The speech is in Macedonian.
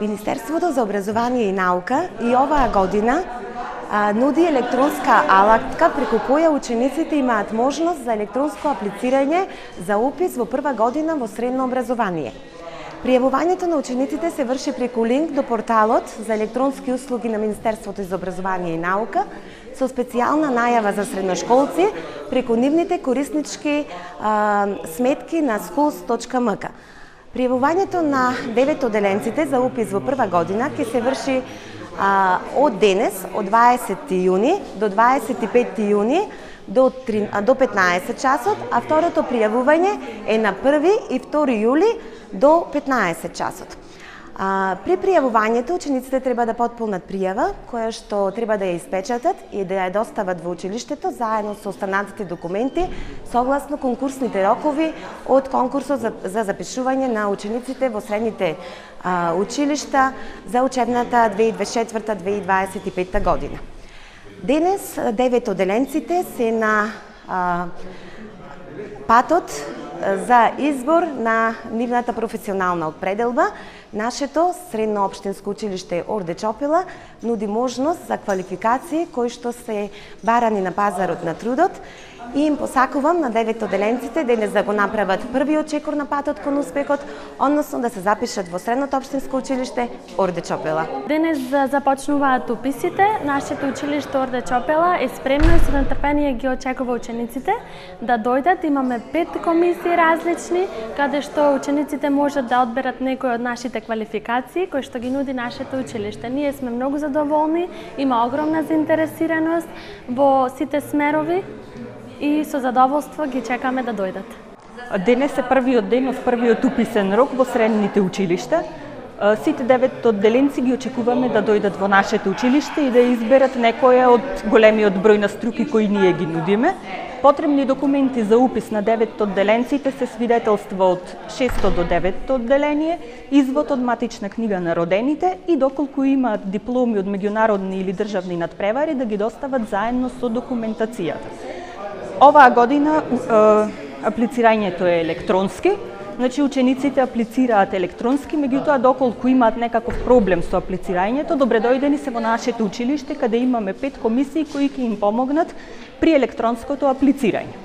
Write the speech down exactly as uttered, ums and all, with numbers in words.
Министерството за образование и наука и оваа година а, нуди електронска алатка преку која учениците имаат можност за електронско аплицирање за упис во прва година во средно образование. Пријавувањето на учениците се врши преку линк до порталот за електронски услуги на Министерството за образование и наука со специјална најава за средношколци преку нивните кориснички а, сметки на schools точка м к. Пријавувањето на девет одделенците за упис во прва година ќе се врши а, од денес, од дваесети јуни до дваесет и пети јуни до, до петнаесет часот, а второто пријавување е на први и втори јули до петнаесет часот. А, при пријавувањето учениците треба да потполнат пријава, која што треба да ја испечатат и да ја достават во училиштето заедно со останатите документи, согласно конкурсните рокови од конкурсот за, за запишување на учениците во средните а, училишта за учебната две илјади дваесет и четврта - две илјади дваесет и петта година. Денес девет одделенците се на а, патот за избор на нивната професионална определба. Нашето средно општинско училиште Орде Чопела нуди можност за квалификации кои што се барани на пазарот на трудот и им посакувам на девет одделенците денес да го направат првиот чекор на патот кон успехот, односно да се запишат во средното општинско училиште Орде Чопела. Денес започнуваат уписите. Нашето училиште Орде Чопела е спремно и со нетрпение ги очекува учениците да дојдат. Имаме пет комисии различни, каде што учениците можат да одберат некои од нашите квалификации кои што ги нуди нашето училиште. Ние сме многу задоволни, има огромна заинтересираност во сите смерови и со задоволство ги чекаме да дојдат. Денес е првиот ден од првиот уписен рок во средните училишта. Сите девет одделенци ги очекуваме да дојдат во нашето училиште и да изберат некоја од големиот број на струки кои ние ги нудиме. Потребни документи за упис на девет одделенците се свидетелства од шесто до деветто одделение, извод од матична книга на родените и доколку имаат дипломи од меѓународни или државни надпревари да ги достават заедно со документацијата. Оваа година е, аплицирањето е електронски, значи учениците аплицираат електронски, меѓутоа доколку имаат некаков проблем со аплицирањето, добре дојдени се во нашето училиште каде имаме пет комисии кои ќе им помогнат при електронското аплицирање.